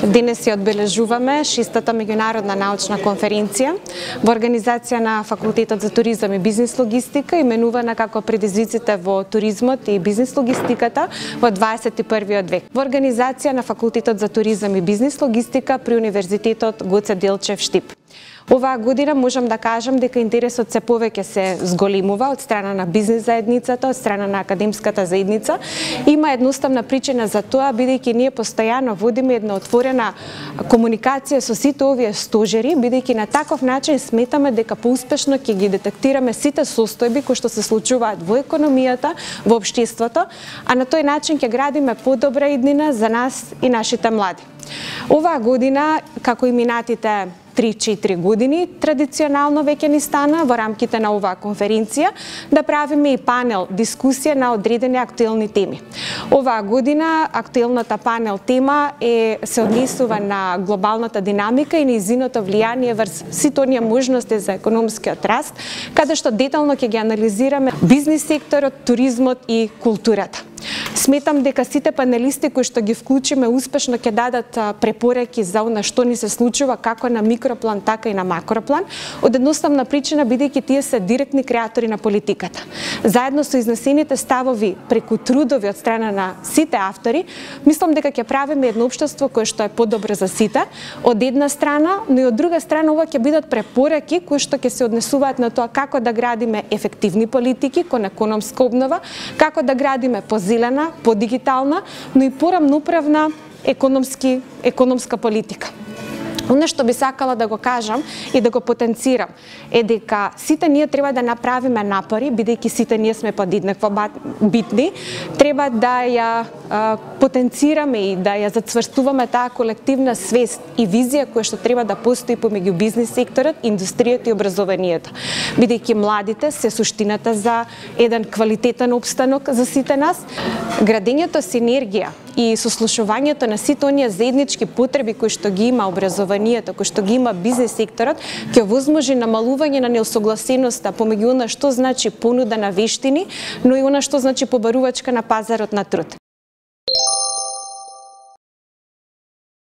Денес ја одбележуваме 6-та меѓународна научна конференција во организација на Факултетот за туризам и бизнис логистика, именувана како предизвиците во туризмот и бизнис логистиката во 21. век. Во организација на Факултетот за туризам и бизнис логистика при Универзитетот Гоце Делчев Штип. Оваа година можам да кажам дека интересот се повеќе се зголемува од страна на бизнис заедницата, од страна на академската заедница. Има едноставна причина за тоа, бидејќи ние постојано водиме една отворена комуникација со сите овие стожери, бидејќи на таков начин сметаме дека поуспешно ќе ги детектираме сите состојби кои што се случуваат во економијата, во општеството, а на тој начин ќе градиме подобра иднина за нас и нашите млади. Оваа година, како и минатите 3-4 години, традиционално веќе ни стана во рамките на оваа конференција да правиме и панел дискусија на одредени актуелни теми. Оваа година актуелната панел тема се однесува на глобалната динамика и нејзиното влијание врз сите оние можности за економскиот раст, каде што детално ќе ги анализираме бизнис секторот, туризмот и културата. Сметам дека сите панелисти кои што ги вклучиме успешно ќе дадат препораки за она што ни се случува како на микроплан, така и на макроплан, од едноставна причина бидејќи тие се директни креатори на политиката. Заедно со изнесените ставови преку трудови од страна на сите автори, мислам дека ќе правиме едно општество кое што е подобро за сите, од една страна, но и од друга страна ова ќе бидат препораки кои што ќе се однесуваат на тоа како да градиме ефективни политики кон економска обнова, како да градиме позелена, подигитална, но и порамнуправна економска политика. Оно што би сакала да го кажам и да го потенцирам е дека сите ние треба да направиме напори, бидејќи сите ние сме подеднакво битни, треба да ја потенцираме и да ја зацврстуваме таа колективна свест и визија која што треба да постои помеѓу бизнис секторот, индустријата и образованието. Бидејќи младите се суштината за еден квалитетен опстанок за сите нас, градењето синергија и сослушувањето на сите оние заеднички потреби кои што ги има образованието, кои што ги има бизнис секторот, ќе овозможи намалување на неосогласеноста помеѓу она што значи понуда на вештини, но и она што значи побарувачка на пазарот на труд.